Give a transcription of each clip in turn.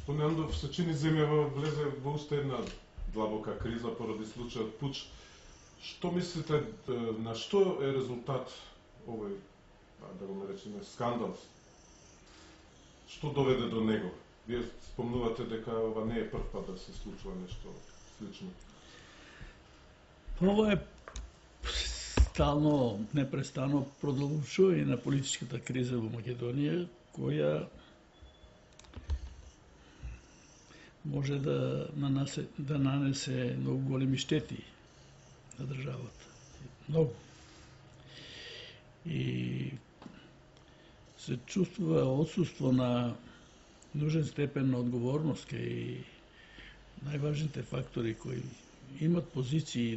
Спомнам да се чини земјава влезе во уште една длабока криза поради случајот пуч. Што мислите, на што е резултат овој, да го наречеме, скандал? Што доведе до него? Вие спомнувате дека ова не е прв пат да се случува нешто слично. Ова е стално, непрестано продолжување на политичката криза во Македонија, која може да нанесе многу големи штети на државата. Многу. И се чувствува отсуство на нужен степен на одговорност кај најважните фактори кои имат позиции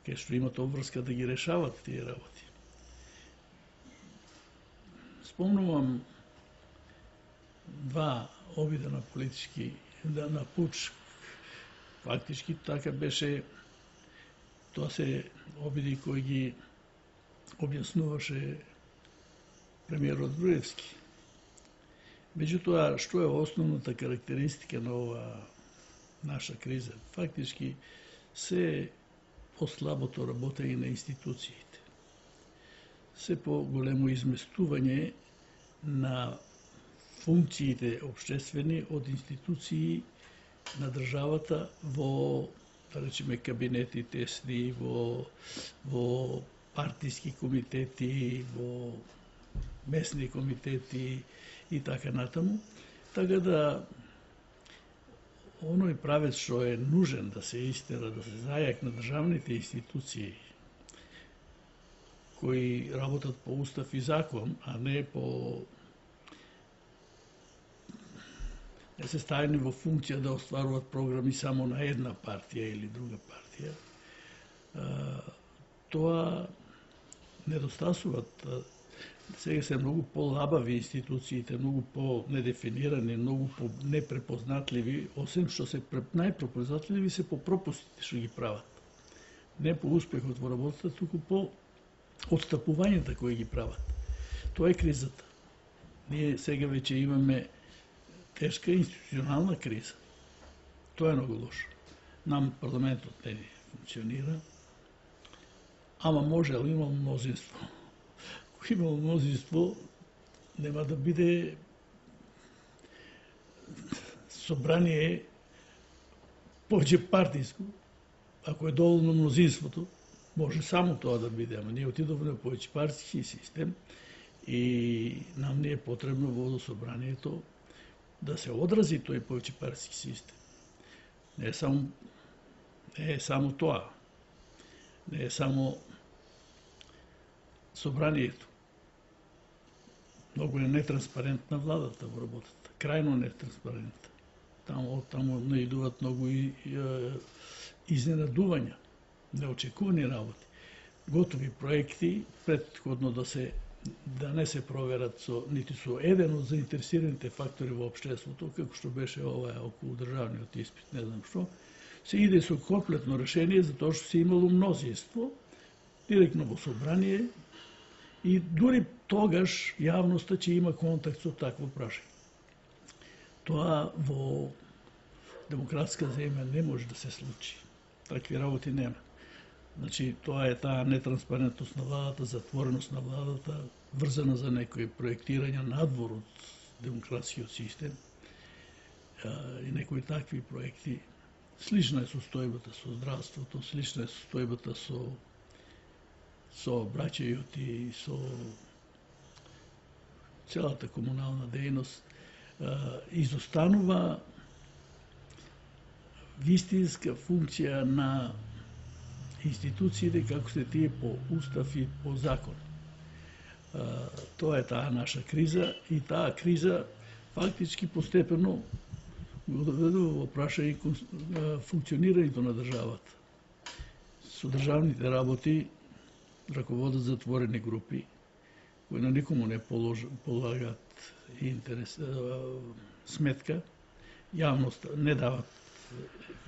кај што имат обврска да ги решават тие работи. Спомнувам два обида на политички, на пуч. Фактички така беше, тоа се обиди кои ги објаснуваше премиерот Груевски. Меѓутоа, што е основната карактеристика на ова наша криза? Фактички се по-слабото работење на институциите. Се по-големо изместување на функциите општествени од институции на државата во, да речеме, кабинети тесни, во партиски комитети, во местни комитети и така натаму. Така да, оној правец што е нужен да се истера, да се зајакне државните институции, кои работат по устав и закон, а не не се ставени во функција да остваруваат програми само на една партија или друга партија, тоа недостасуваат. Сега се многу по-лабави институциите, многу по-недефинирани, многу по-непрепознатливи, освен што се најпрепознатливи се по пропустите што ги прават. Не по успехот во работата, туку по отстапувањата кои ги прават. Тоа е кризата. Ние сега веќе имаме тешка институционална криза. Тоа е многу лошо. Нам парламентот не функционира, ама може, али има мнозинство. Ако има мнозинство, нема да биде собрание повеќе партиско. Ако е доволно мнозинството, може само тоа да биде, ама ние отидовме на повеќе партиски систем и нам не е потребно во собранието да се одрази тој повеќе партиски систем. Не е само тоа. Не е само собранието. Многу е нетранспарентна владата во работата. Крајно нетранспарентна. Таму наидуваат многу изненадувања, неочекувани работи. Готови проекти, претходно да не се проверат нити со еден од заинтересираните фактори во општеството, како што беше ова околу државниот испит, не знам што, се иде со комплетно решение за тоа што се имало мнозинство, директно во собрание, и дури тогаш јавноста ќе има контакт со такво прашање. Тоа во демократска земја не може да се случи. Такви работи нема. Значи, тоа е таа нетранспарентност на владата, затвореност на владата, врзана за некои проектирања надвор од демократскиот систем и некои такви проекти. Слична е состојбата со здравството, слична е состојбата со обраќајот и со целата комунална дејност. Изостанува вистинска функција на институциите како се тие по устав и по закон. Тоа е таа наша криза и таа криза фактички постепено го доведува во прашање функционирањето на државата. Со државните работи раководат затворени групи кои на никому не полагаат сметка, јавноста не дават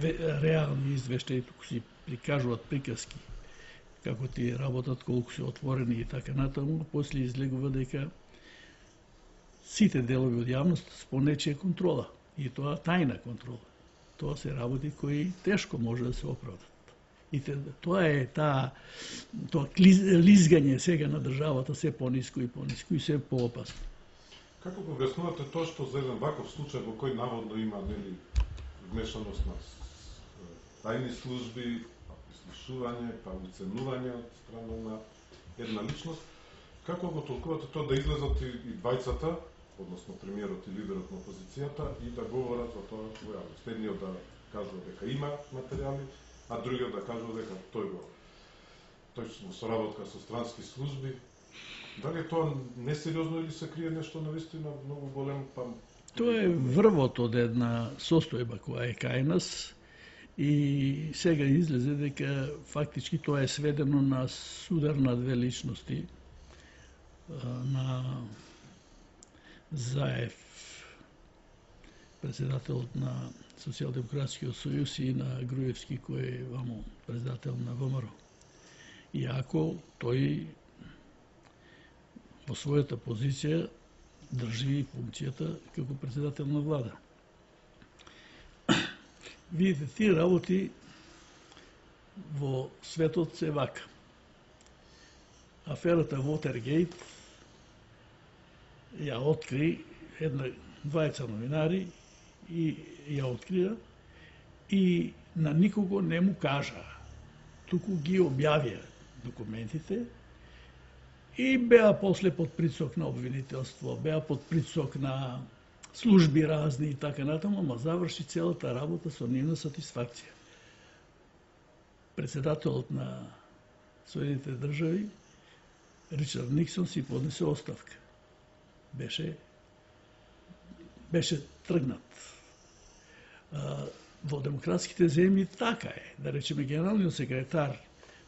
реални извештаи, туку си прикажуваат приказки како тие работат, колку се отворени и така натаму, после излегува дека сите делови од јавност по нечија контрола. И тоа тајна контрола. Тоа се работи кои тешко може да се оправдат. И тоа е тоа лизгање сега на државата се пониско и се поопасно. Како го објаснувате тоа што за еден ваков случај во кој наводно има вмешаност на тајни служби, ислушување, уценување од страна на една личност, како го толкувате тоа да излезат и двајцата, односно премиерот и лидерот на опозицијата, и да говорат во тоа во јавност? Едниот да кажува дека има материјали, а другиот да кажува дека тој во соработка со странски служби. Дали тоа несериозно или се крие нешто навистина многу голем? Тоа е врвот од една состојба која е кај нас и сега излезе дека фактички тоа е сведено на судар на две личности, на Заев, председателот на Социјалдемократскиот сојуз, и на Груевски, кој е вамо председател на ВМРО. Иако тој во својата позиција држи функцијата како председател на влада. Видите, тие работи во светот се вака. Аферата Watergate ја откри двајца новинари и ја открија и на никого не му кажа, туку ги објавија документите и беа после под притисок на обвинителство, беа под притисок на служби разни и така натаму, ама заврши целата работа со нивна сатисфакција. Председателот на Соединетите држави, Ричард Никсон, си поднесе оставка. Беше тргнат. Во демократските земји така е. Да речеме, генералниот секретар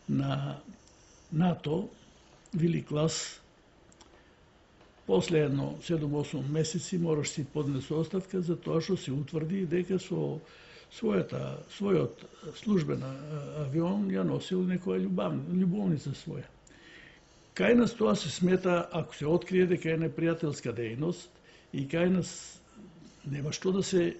на НАТО, Вили Клас, после едно 7-8 месеци мораш си поднесе оставка за тоа што се утврди дека со својот службен авион ја носил некоја љубовница своја. Кај нас тоа се смета, ако се открие дека е непријателска дејност, и кај нас нема што да се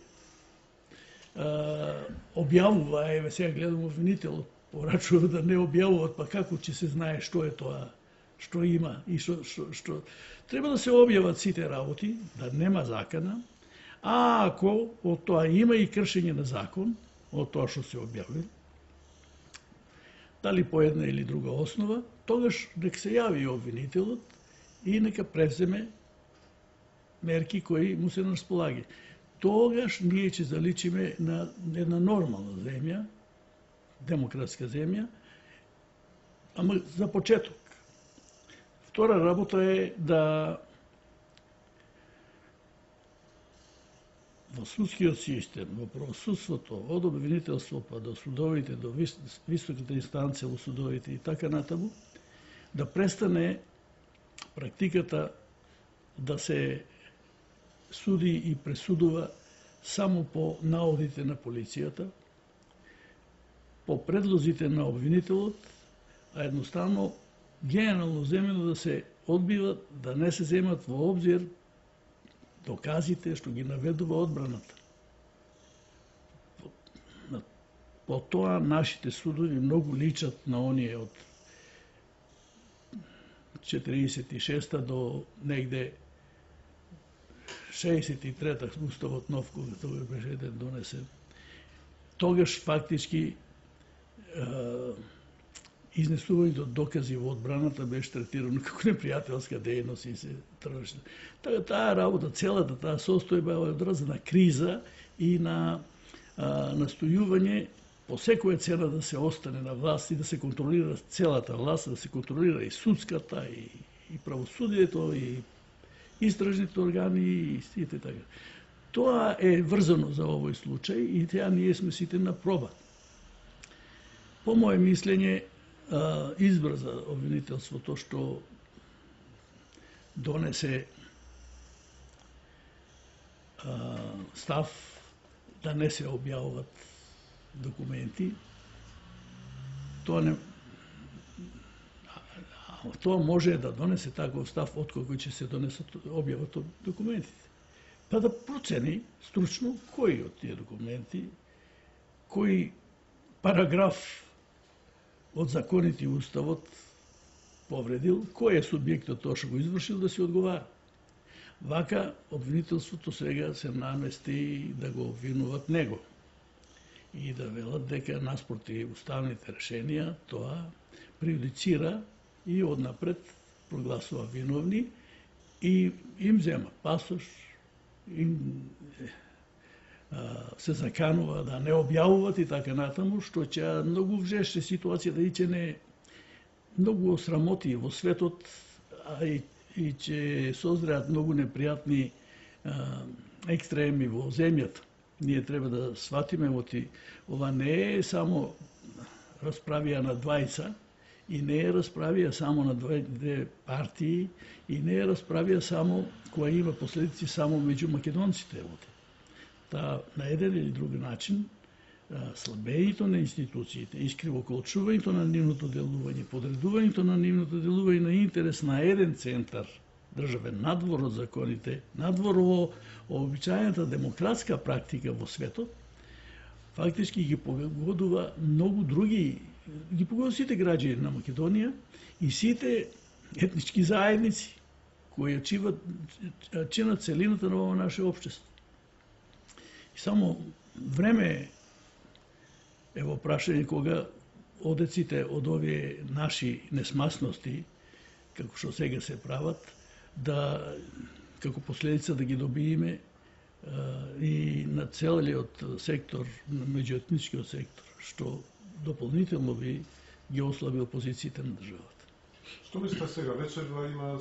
објавува. Еве сега гледам обвинителот порачува да не објавуваат, па како ќе се знае што е тоа, што има и што треба да се објават сите работи, да нема закана, а ако од тоа има и кршење на закон, од тоа што се објави, дали по една или друга основа, тогаш нека се јави обвинителот и нека превземе мерки кои му се на располагање. Тогаш ние ќе заличиме на една нормална земја, демократска земја, ама за почеток. Втора работа е да во судскиот систем, во правосудството, од обвинителство па до судовите, до високите инстанции во судовите и така натаму, да престане практиката да се суди и пресудува само по наодите на полицијата, по предлозите на обвинителот, а едноставно генерално земено да се одбива, да не се земат во обзир доказите што ги наведува одбраната. По тоа нашите судови многу личат на оние од 46-та до негде 63-та уставот нов, кога тој беше донесен. Тогаш фактички изнесувањето докази во одбраната беше третирано како непријателска дејност и се тргаше. Така таа работа, целата таа состојба е одраз на криза и на настојување по секоја цена да се остане на власт и да се контролира целата власт, да се контролира и судската, и правосудието, и истражните органи и сите така. Тоа е врзано за овој случај и теа ние сме сите на проба. По моје мислење, избрза обвинителството што донесе став да не се објавуват документи. Тоа не... Тоа може да донесе таков став откако ќе се донесат објават документите. Па да процени стручно кои од тие документи, кој параграф од законите и уставот повредил, кој е субјектот тоа што го извршил да се одговара. Вака обвинителството сега се намести да го обвинуват него и да велат дека наспроти уставните решенија тоа преюдицира и однапред прогласува виновни и им зема пасош, им се заканува да не објавуваат и така натаму, што ќе многу вжеше ситуацијата и ќе не многу осрамоти во светот, а и ќе созреат многу непријатни екстреми во земјата. Ние треба да сватиме ова не е само расправија на двајца, и не е расправија само на две партии, и не е расправија само која има последици само меѓу македонците. Та на еден или друг начин слабењето на институциите, искривоколчувањето на нивното делување, подредувањето на нивното делување на интерес на еден центар државен надвор од законите, надвор во обичајната демократска практика во светот, фактички ги погодува многу други, ги погодува сите граѓани на Македонија и сите етнички заедници кои чинат целината на ова наше општество. И само време е во прашање кога одеците од овие наши несмасности, како што сега се прават, да како последица да ги добиеме и на целиот сектор, меѓуетничкиот сектор, што дополнително би ги ослабил позициите на државата. Што мислите сега? Вечерва има